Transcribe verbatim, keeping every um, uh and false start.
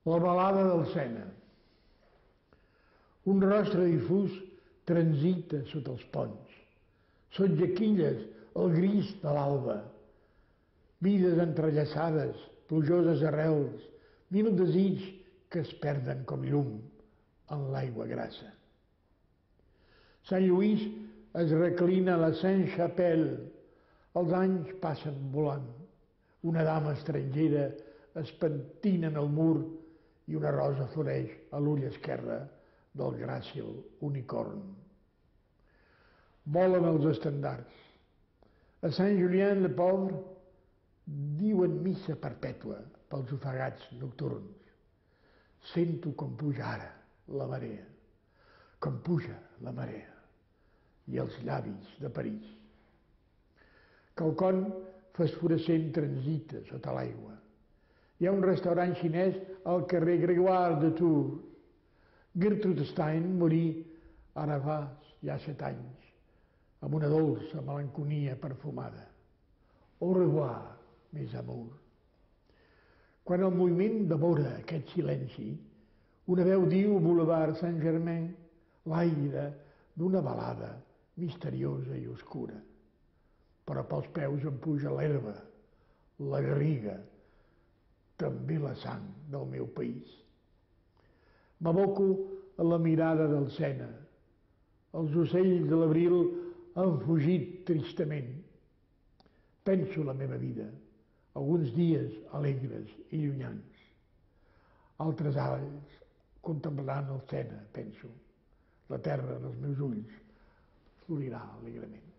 La balada del Sena. Un rostre difús transita sota els ponts. Són jaquilles el gris de l'alba. Vides entrellaçades, plujoses arrels, mil desigs que es perden com llum en l'aigua grassa. Sant Lluís es reclina a la Sainte-Chapelle. Els anys passen volant. Una dama estrangera es pentina en el mur i una rosa floreix a l'ull esquerre del gràcil unicorn. Volen els estendards. A Saint-Julien-le-Pauvre diuen missa perpètua pels ofegats nocturns. Sento com puja ara la marea, com puja la marea i els llavis de París. Quelcom fosforescent transita sota l'aigua. Hi ha un restaurant xinès al carrer Grégoire de Tours. Gertrude Stein morí ara fa ja set anys, amb una dolça melancolia perfumada. Au revoir, mes amours. Quan el moviment devora aquest silenci, una veu diu al Boulevard Saint-Germain l'aire d'una balada misteriosa i oscura. Però pels peus em puja l'herba, la garriga, també la sang del meu país. M'aboco a la mirada del Sena. Els ocells de l'abril han fugit tristament. Penso la meva vida, alguns dies alegres i llunyans. Altres anys contemplant el Sena, penso. La terra dels meus ulls florirà alegrement.